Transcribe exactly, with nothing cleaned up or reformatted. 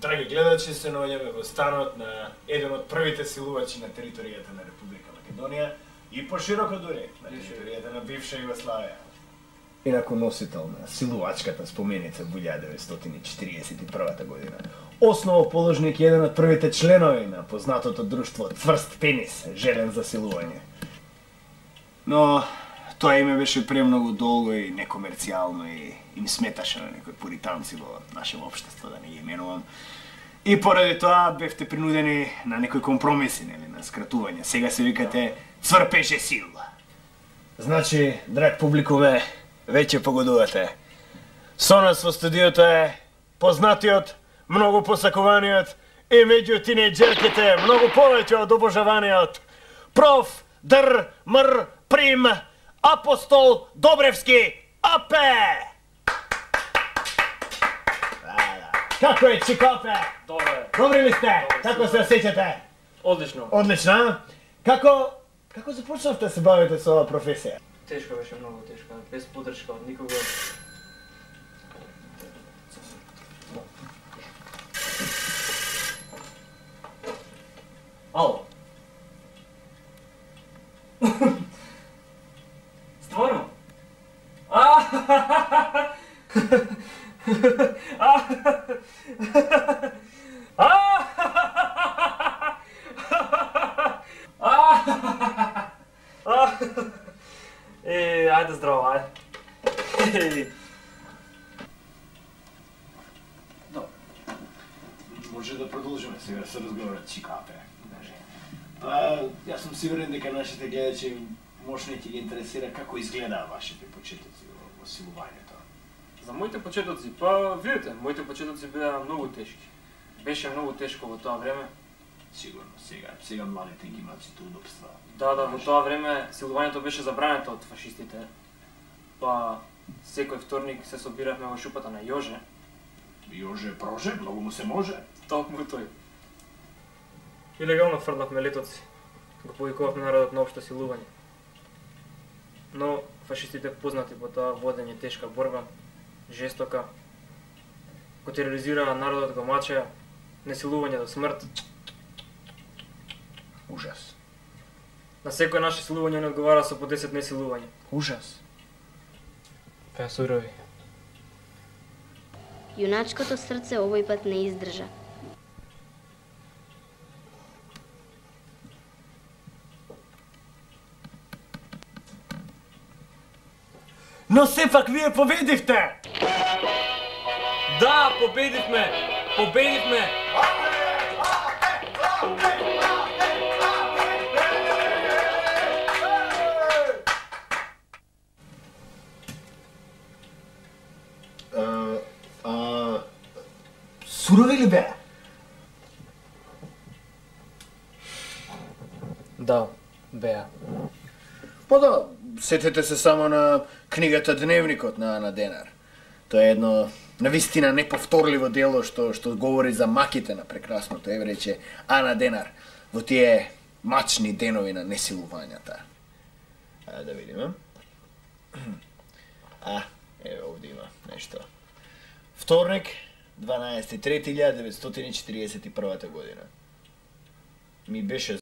Драги гледачи, се наоѓаме во станот на еден од првите силувачи на територијата на Република Македонија и пошироко дури на територијата на бивша Југославија. Инаку носител на силувачката споменица во илјада деветстотини четиридесет и прва година. Основоположник и еден од првите членови на познатото друштво Цврст пенис, желен за силување. Но тоа име беше премногу долго и некомерцијално и им сметаше на некои пуританци во нашето општество, да не ги именувам. И поради тоа бевте принудени на некои компромиси, нели, на скратување. Сега се викате Цврпеше сил. Значи, драг публикуме, веќе погодувате. Со нас во студиото е познатиот, многу посакуваниот и меѓу тинејџерките многу повеќе од обожаваниот проф. Др. Мр. Прим. Апостол Добревски Апе! Како е, Чикопе? Добре. Добри ли сте? Добре, Како се осеќате? Одлично. Одлично, а? Како како започнавте да се бавите со оваа професија? Тешко беше, многу тешко. Без поддршка од никого. Ало. Стварно? А! Е, ајде здраво, ајде. Може да продолжиме сега со разговорот, Чикопе. Па, јас сум сигурен дека нашите гледачи можно ќе ги интересира како изгледаа вашите почетоци во силувањето. За моите почетоци, па видите, моите почетоци беа многу тешки. Беше многу тешко во тоа време. Сигурно, сега, сега младите ги имаат сите удобства. Да, да, во тоа време силувањето беше забрането од фашистите. Па секој вторник се собиравме во шупата на Јоже. Јоже проже, многу му се може. Токму тој. Илегално фрлавме летоци. Го повикувавме народот на општо силување. Но фашистите познати по тоа водење тешка борба, жестока, го тероризираа народот, го мачеа, несилување до смрт. Ужас. На секој наше силување не одговара со по десет несилување. Ужас. Кај сурови. Јуначкото срце овој пат не издржа. Но сепак вие победивте! Да, победивме! Победивме! А, а, сурови ли беа? Да, беа. Па да, сетете се само на книгата Дневникот на Ана Денар. Тоа е едно навистина неповторливо дело што што говори за маките на прекрасното еврејче Ана Денар во тие мачни денови на несилувањата. А да видиме. А, еве овде има нешто. Вторник, дванаесети трети илјада деветстотини четиридесет и прва година. Ми беше